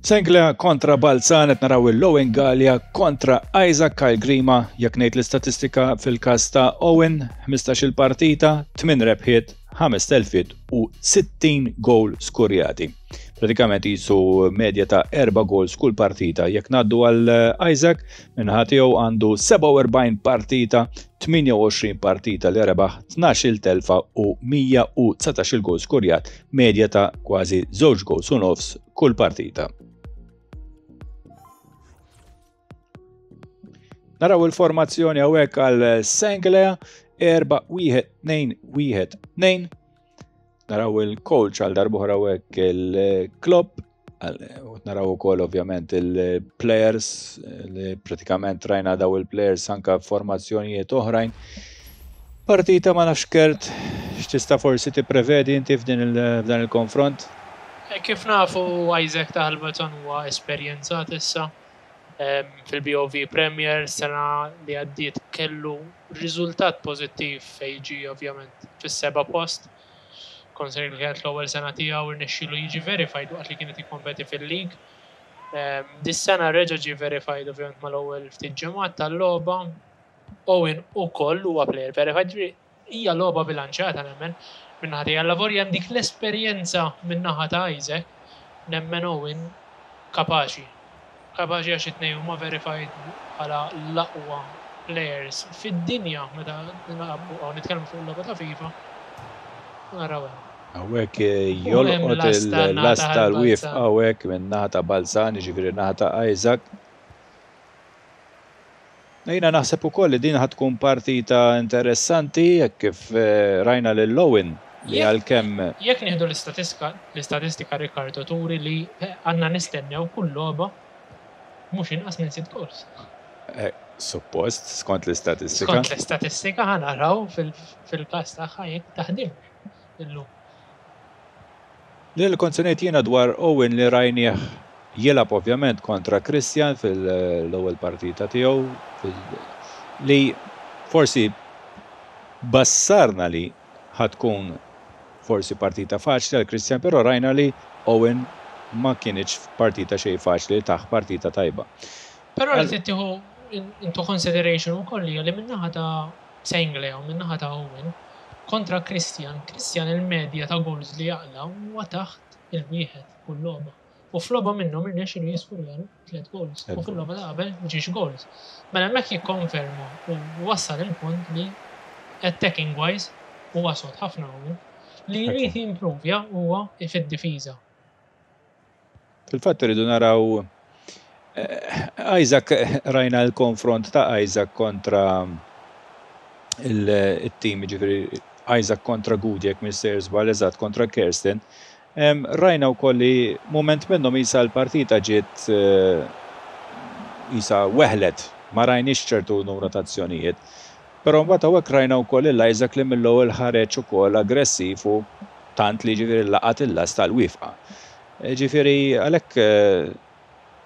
Senglea kontra Balzan qed naraw il-Owen Galea kontra Isaac Kyle Grima, jekk ngħid l-istatistika fil-każ ta' Owen, 15-il partita, 8 rebħiet, 5 telfiet u 60 goal skurjati. Pratikament jisu medja ta' 4 goals kull partita. Jekk ngħaddu għal Isaac, minħa tiegħu għandu 47 partita, 28 partita li rebaħ, 12-il telfa u 119-il goal skurjat, medja ta' kważi żewġ goals u nofs kull partita. Naraw il-formazzjoni hawnhekk għal Senglea 4 1 2 1 2. Naraw il-coach għal darbohra hawnhekk il-Klopp, naraw ukoll ovvjament il-players li pratikament rajna daw il-players anka formazzjonijiet oħrajn. Partita ma nafx Kurt x'tista' forsi tipprevedi inti f'dan il-konfront? Kif nafu Isaac ta' Ħal huwa esperjenzat issa fil-BOV Premier sena li għaddiet kellu riżultat pożittiv fejn ġie ovvjament fis-seba' post. Considering li kienet l-ewwel sena tiegħu irnexxielu jiġi verified waqt li kienet jikkompeti fil-league. Dis-sena reġa' ġie verified ovvjament mal-ewwel ftit ġimgħat tal-logħba. Owen ukoll huwa player verified, hija logħba bilanċjata nemmen min-naħa tiegħi. Allavolja hemm dik l-esperjenza min-naħa ta' Isaac, nemmen Owen kapaċi. Kapaċi għax it-tnejn huma verified bħala l-aqwa players fid-dinja meta nitkellmu fuq il-logħba ta' FIFA. U naraw hemm. Hawnhekk jolqot il-lasta l-wieqfa hawnhekk min-naħa ta' Balzan, jiġifieri naħa ta' Isaac. Jiena naħseb ukoll li din ħa tkun partita interessanti jekk kif rajna lil Owen li għalkemm. Jekk nieħdu l-istatistika, l-istatistika Riccardo turi li għandna nistennew kull logħba mhux inqas minn sitt goals. Suppost, skont l-istatistika. Skont l-istatistika ħa naraw fil-każ tagħha jekk taħdimx illum. Li kont se ngħid jiena dwar Owen li rajnieh jilgħab ovvjament kontra Christian fil-ewwel partita tiegħu li forsi bassarna li ħa tkun forsi partita faċli għal Christian, però rajna li Owen ma kinitx partita xejn faċli taħ partita tajba. Però li tieħu into consideration ukoll hija li min-naħa ta' Senglea u min-naħa ta' Owen kontra Christian, Christian il-medja ta' goals li jaqla huwa taħt il-wieħed kull logħba. U f'logħba minnhom irnexxielu jiskurjalu tliet goals. U fil-logħba ta' qabel ġiex goals. Mela hemmhekk jikkonferma u wassal il-punt li attacking wise huwa sod ħafna Owen. Li jrid jimprovja huwa fid-difiża. Fil-fatt irridu naraw Isaac rajna l-konfront ta' Isaac kontra il-team, ġifieri Isaac kontra Gudi, jekk mister żball eżatt kontra Kirsten. Rajna wkoll li moment minnhom isa l-partita ġiet isa weħlet, ma rajniex ċertu numru ta' azzjonijiet. Però mbagħad hawnhekk rajna wkoll lil Isaac li mill-ewwel ħareġ ukoll aggressiv u tant li ġifieri laqat il-lasta l-wifqa. Ġifieri għalhekk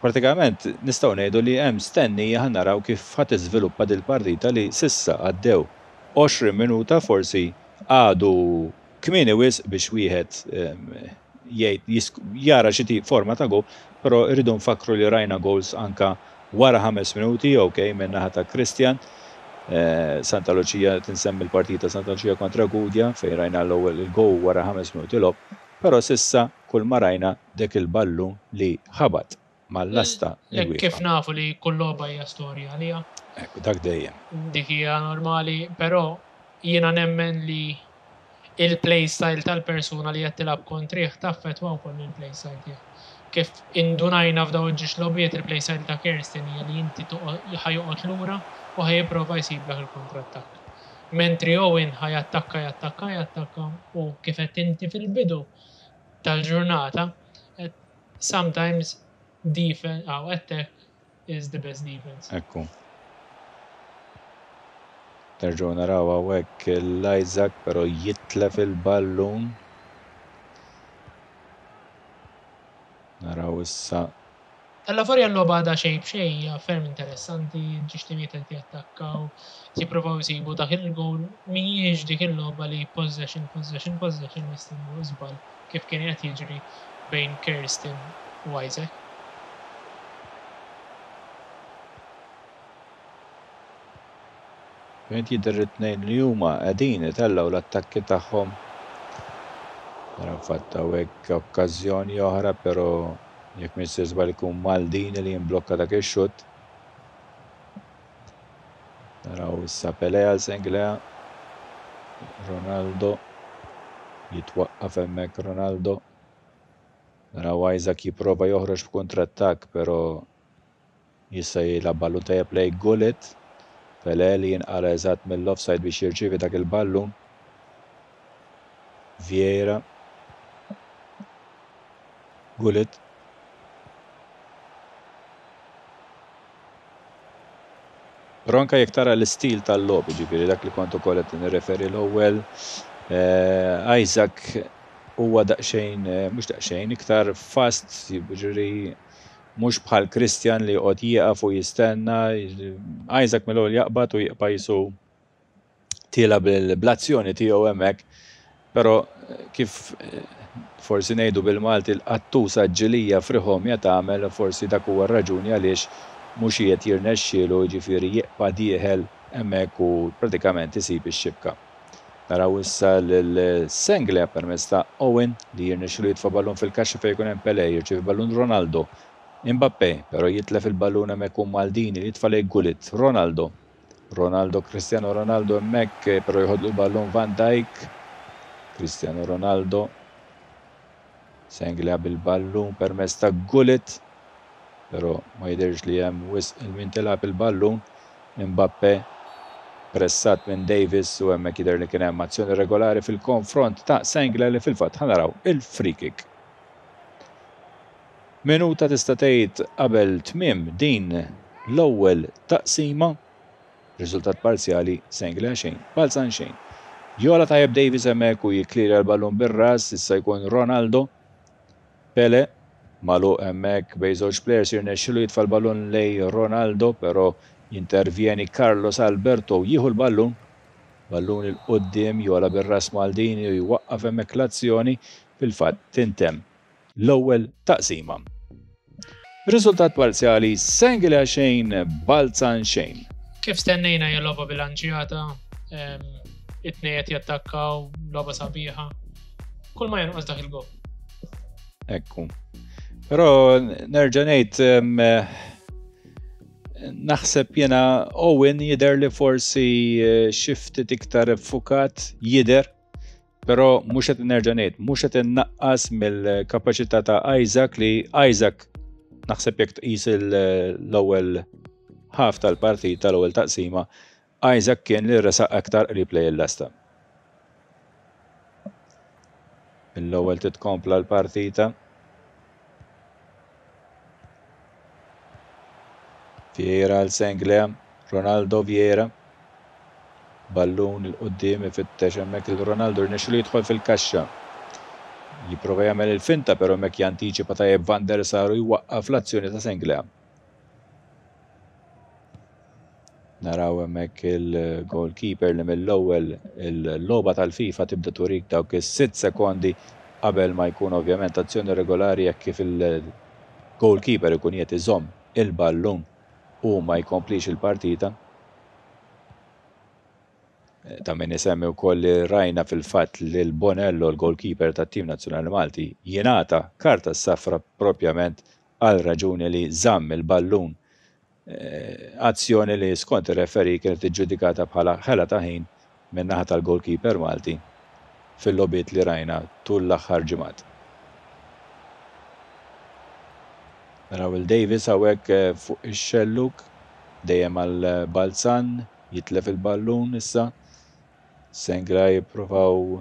pratikament nistgħu ngħidu li hemm stennija ħa naraw kif ħa tiżviluppa dil-partita li s'issa għaddew 20 minuta forsi għadu kmieni wisq biex wieħed jgħid jara xi forma ta' goal, però rridu nfakru li rajna goals anka wara 5 minuti, ok, minn naħa ta' Christian. Santa Lucia tinsemmi l-partita Santa Lucia kontra Gudja fejn rajna l-ewwel il-goal wara 5 minuti logħob, però s'issa kull ma rajna dik il-ballun li ħabat mal-lasta il-wieqfa. Kif nafu li kull logħba hija storja għalija. Ekku, dak dejjem. Dik hija normali, però jiena nemmen li il-play style tal-persuna li qed tilgħab kontrih taffettwa wkoll il-play style tiegħek. Kif indunajna f'daw il-ġiex logħbiet il-play style ta' Kirsten hija li inti ħa joqgħod lura u ħa jipprova jsiblek il-kontrattakk. Mentri Owen ħa jattakka, jattakka, jattakka u kif qed inti fil-bidu tal-ġurnata, sometimes defense, oh, attack is the best defense. Ekku. Nerġgħu naraw hawnhekk l-Isaac però jitlef il-ballun. Naraw issa. Alla volja l-logħba għadha xejn b'xejn hija ferm interessanti, ġiex timijiet qed jattakkaw, jippruvaw jsibu dak il-goal, mhijiex dik il-logħba li possession, possession, possession jistennew żball kif kien qed jiġri bejn Kirsten u Isaac. Ovvjament jidher li t-tnejn li huma qegħdin itellgħu l-attakki tagħhom. Nara fatt hawnhekk okkażjoni oħra, però jekk m'iniex sejjer żball ikun Maldini li jimblokka dak ix-xutt. Naraw issa Pelé għal Senglea. Ronaldo jitwaqqaf hemmhekk Ronaldo. Naraw Isaac jipprova joħroġ b'kontrattakk, però jista' jilgħab ballun tajjeb lejn Gullit. Pelé li jinqala eżatt mill-offside biex jirċievi dak il-ballun. Vieira. Gullit. Però anke jekk tara l-istil tal-logħob, jiġifieri dak li kont ukoll qed nirreferi l-ewwel, Isaac huwa daqsxejn, mhux daqsxejn, iktar fast, jiġifieri mhux bħal Christian li joqgħod jieqaf u jistenna, Isaac mill-ewwel jaqbad u jibqa' qisu tiela' bl-azzjoni tiegħu hemmhekk, però kif forsi ngħidu bil-Malti l-qattusa ġġilija friħomja tagħmel, forsi dak huwa r-raġuni għaliex mhux qiegħed jirnexxielu jiġifieri jibqa' dieħel hemmhekk u pratikament isib ix-xibka. Naraw issa lil Senglea permezz ta' Owen li jirnexxielu jitfa' ballun fil-kaxxa fejn ikun hemm Pelé, jirċievi ballun Ronaldo. Mbappé, però jitlef il-ballun hemmhekk u Maldini li jitfa' lejn Gullit. Ronaldo. Ronaldo, Cristiano Ronaldo hemmhekk, però joħodlu l-ballun Van Dijk. Cristiano Ronaldo. Senglea bil-ballun permezz ta' Gullit. Però ma jidhirx li hemm wisq il-min tilgħab il-ballun. Mbappe pressat minn Davis u hemmhekk jidher li kien hemm azzjoni regolari fil-konfront ta' Senglea li fil-fatt ħa naraw il-free kick. Minuta tista' tgħid qabel tmiem din l-ewwel taqsima. Riżultat parzjali Senglea xejn, Balzan xejn. Jogħla tajjeb Davis hemmhekk u jikklirja l-ballun bir-ras, issa jkun Ronaldo. Pele magħluq hemmhekk bejn żewġ plejers jirnexxilu jitfa' l-ballun lejn Ronaldo però jintervjeni Carlos Alberto u jieħu l-ballun. Ballun 'il quddiem jogħla bir-ras Maldini u jwaqqaf hemmhekk l-azzjoni fil-fatt tintemm l-ewwel taqsima. Riżultat parzjali Senglea xejn, Balzan xejn. Kif stennejna hija logħba bilanċjata, it-tnejn qed jattakkaw, logħba sabiħa. Kull ma jonqos dak il-gol. Ekku. Però nerġa' ngħid naħseb jiena Owen jidher li forsi eh, xi ftit iktar iffukat jidher Però mhux qed nerġa' ngħid, mhux qed innaqqas mill-kapaċità ta' Isaac li Isaac naħseb jekk tqis l-ewwel ħaf tal-partita l-ewwel taqsima, Isaac kien li resaq aktar qrib lejn il-lasta. Mill-ewwel titkompla l-partita. Vieira għal Senglea, Ronaldo Vieira. Ballun 'il quddiem ifittex hemmhekk lil Ronaldo rnexxielu jidħol fil-kaxxa. Jipprova jagħmel il-finta però hemmhekk jantiċipa tajjeb Van der Sar u jwaqqaf l-azzjoni ta' Senglea. Naraw hemmhekk il-goalkeeper li mill-ewwel il-logħba tal-FIFA tibda turik dawk is-sitt sekondi qabel ma jkun ovvjament azzjoni regolari jekk kif il-goalkeeper ikun qiegħed iżomm il-ballun u ma jkomplix il-partita. Ta' min isemmi wkoll li rajna fil-fatt lil Bonello l-goalkeeper tat-tim nazzjonali Malti jingħata karta safra propjament għal raġuni li żamm il-ballun azzjoni li skont ir-referee kienet iġġudikata bħala ħela ta' ħin min-naħa tal-goalkeeper Malti fil-logħbiet li rajna tul l-aħħar ġimgħat. Naraw il Davis hawnhekk fuq ix-xellug dejjem għal Balzan jitlef il-ballun issa. Senglea jippruvaw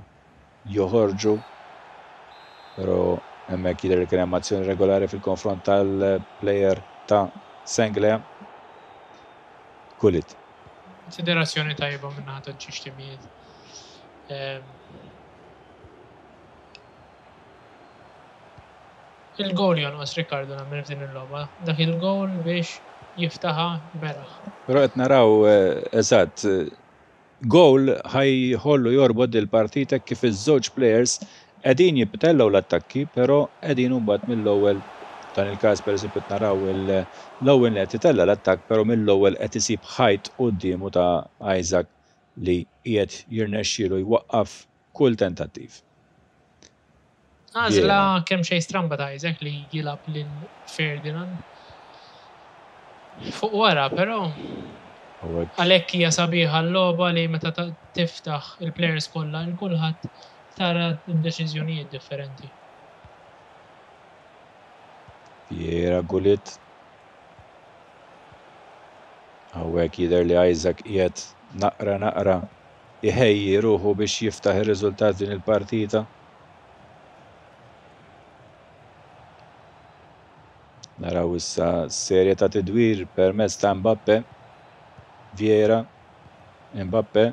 joħorġu, però hemmhekk jidher li kien hemm azzjoni regolari fil-konfront tal-plejer ta' Senglea. Gullit. Konsiderazzjoni tajba min-naħa ta' ġiex timijiet. Il-gowl jonqos Riccardo nagħmel f'din il-logħba. Dak il-gowl biex jiftaħa beraħ. Però qed naraw eżatt Goal ħa jħollu jorbot dil-partita hekk kif iż-żewġ plejers qegħdin jitellgħu l-attakki però qegħdin imbagħad mill-ewwel f'dan il-każ pereżempju qed naraw il Owen li qed itella' l-attakk però mill-ewwel qed isib ħajt quddiemu ta' Isaac. li qiegħed jirnexxielu jwaqqaf kull tentattiv. Għażla kemm xejn stramba ta' Isaac li jilgħab lil Ferdinand fuq wara, però għalhekk hija sabiħa l-logħba li meta tiftaħ il-players kollha il kulħadd tara d-deċiżjonijiet differenti. Vieira Gullit. Hawnhekk jidher li Isaac qiegħed naqra naqra iħejji ruħu biex jiftaħ ir-riżultat din il-partita. Naraw issa serje ta' tidwir permezz ta' Mbappe, Vieira, Mbappe,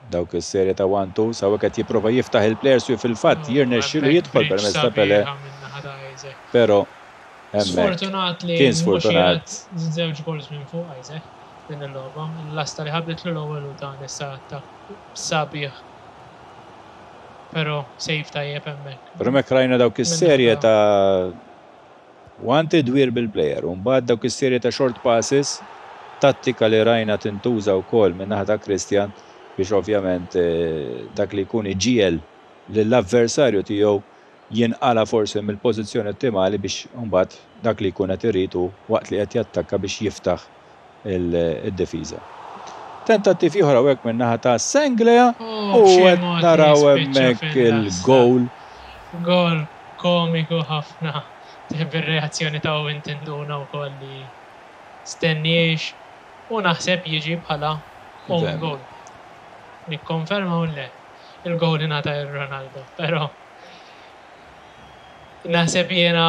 dawk is-serje ta' 1-2 sawhekk qed jipprova jiftaħ il-players u fil-fatt jirnexxielu jidħol permezz ta' Pele. Però hemmhekk Sfortunat li kien sfortunat. Żewġ goals minn fuq Isaac din il-logħba. Il-lasta li ħabitlu l-ewwel u dan issa attakk sabiħ. Però save tajjeb hemmhekk. Però hemmhekk rajna dawk is-serje ta' one tidwir bil-player u mbagħad dawk is-serje ta' short passes, tattika li rajna tintuża wkoll min-naħa ta' Christian biex ovvjament dak li jkun iġiegħel lill-avversarju tiegħu jinqala' forsi mill-pożizzjoni ottimali biex imbagħad dak li jkun qed irid hu waqt li qed jattakka biex jiftaħ id-difiża. Tentattiv ieħor hawnhekk min-naħa ta' Senglea u qed naraw hemmhekk il-goal. Goal komiku ħafna bir-reazzjoni ta' Owen tinduna wkoll li stenniex u naħseb jiġi bħala own goal. Nikkonferma u le, il-goal ingħata lil Ronaldo, però naħseb jiena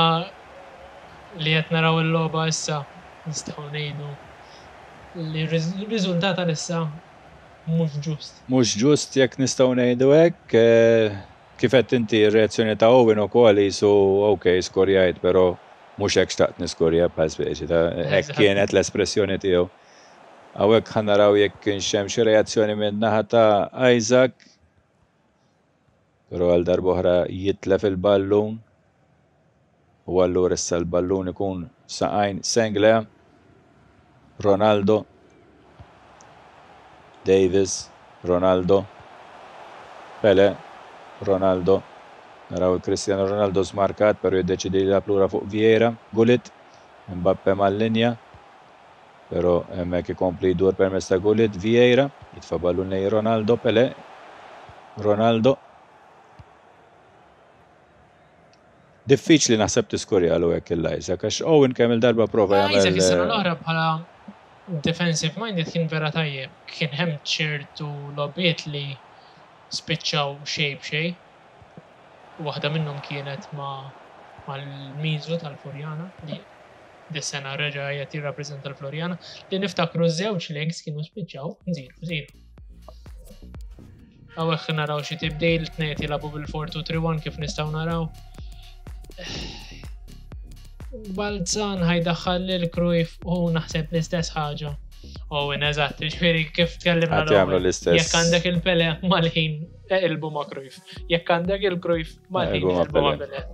li qed naraw il-logħba issa nistgħu ngħidu li r-riżultat għalissa mhux ġust. Mhux ġust jekk nistgħu ngħidu hekk. Kif għedt inti r-reazzjoni ta' Owen ukoll qisu ok skorjajt però mhux hekk xtaqt niskorja bħal speċi ta' hekk kienet l-espressjoni tiegħu. Hawnhekk ħa naraw jekk kienx hemm xi reazzjoni min-naħa ta' Isaac. Però għal darb'oħra jitlef il-ballun u allura issa l-ballun ikun f'saqajn Senglea, Ronaldo, Davis, Ronaldo, Pele, Ronaldo. Naraw il-Cristiano Ronaldo smarkat però jiddeċidi jilgħab lura fuq Vieira, Gullit, Mbappe mal-linja. Però hemmhekk ikompli jdur permezz ta' Gullit, Vieira, jitfa' ballun lejn Ronaldo, Pele, Ronaldo. Diffiċli naħseb tiskurjalu hekk il Isaac għax Owen kemm il-darba prova jagħmel. Isaac is-sena l-oħra bħala defensive minded kien vera tajjeb. Kien hemm ċertu logħbiet li spiċċaw xejn b'xejn. Waħda minnhom kienet ma' mal-Miżu tal-Furjana li dis-sena reġa' qiegħed jirrappreżenta l-Floriana li niftakru żewġ legs kienu spiċċaw 0-0. Hawnhekk naraw xi tibdil, tnejn jilagħbu bil-4-2-3-1 kif nistgħu naraw. Balzan ħajdaħħal lil Cruyff u naħseb l-istess ħaġa. Owen, eżatt, ġifieri kif tkellimna l-istess. Jekk għandek il-Pele mal-ħin eqilbu ma' Cruyff. Jekk għandek il-Cruyff mal-ħin eqilbu ma' Pele.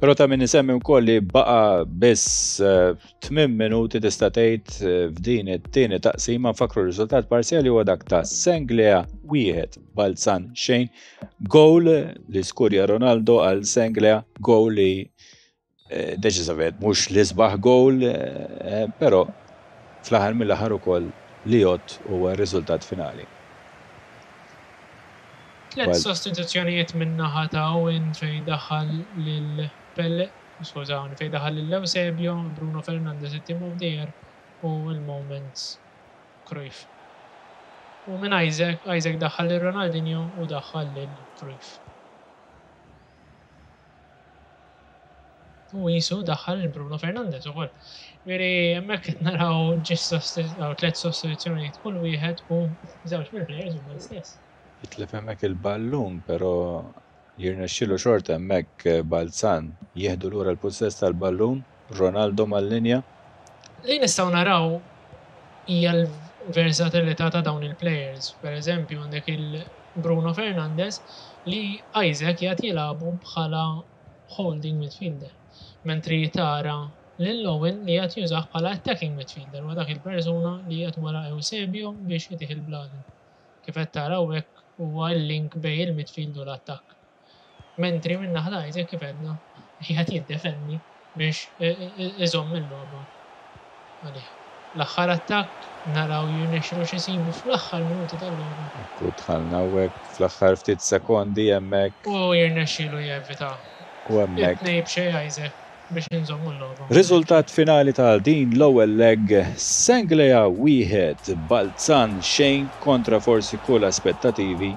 Però ta' min isemmi wkoll li baqa' biss 8 eh, minuti tista' tgħid eh, f'din it-tieni taqsima nfakru r-riżultat parzjali huwa dak ta' Senglea wieħed Balzan xejn. Goal li skurja Ronaldo għal Senglea, goal li eh, deċiżament mhux l-isbaħ goal, però fl-aħħar mill-aħħar ukoll li jgħodd huwa r-riżultat finali. Tlet sostituzzjonijiet min-naħa ta' Owen fejn daħal lil Pelle, skużawni, fejn daħal lil Eusebio, Bruno Fernandes it-Team of the Year u l-Moments Cruyff. U minn Isaac, Isaac daħħal lil Ronaldinho u daħħal lil Cruyff. U qisu daħħal lil Bruno Fernandes ukoll. Ġifieri hemmhekk qed naraw ġie tliet sostituzzjonijiet kull wieħed u żewġ mill-players huma l-istess. Jitlef hemmhekk il-ballun però jirnexxielu xorta hemmhekk Balzan jieħdu lura l-pussess tal-ballun, Ronaldo mal-linja. Li nistgħu naraw hija l-versatilità ta' dawn il-players. Per eżempju għandek il-Bruno Fernandes li Isaac qiegħed jilagħbu bħala holding midfielder, mentri tara lil Owen li qiegħed jużah bħala attacking midfielder, huwa dak il-persuna li qiegħed wara Eusebio biex itih il-bladen. Kif qed tara hawnhekk huwa l-link bejn il-midfield u l-attakk. Mentri minn naħa ta' Isaac kif għedna qiegħed jiddefendi biex iżomm il-logħba għalih. L-aħħar attakk naraw jirnexxilu x'isibu fl-aħħar minuti tal-logħba. Ekku dħalna hawnhekk fl-aħħar ftit sekondi hemmhekk. U jirnexxilu jevita. U hemmhekk. It-tnejn b'xejn Isaac biex inżommu l-logħba. Riżultat finali ta' din l-ewwel leg, Senglea wieħed, Balzan xejn kontra forsi kull aspettativi.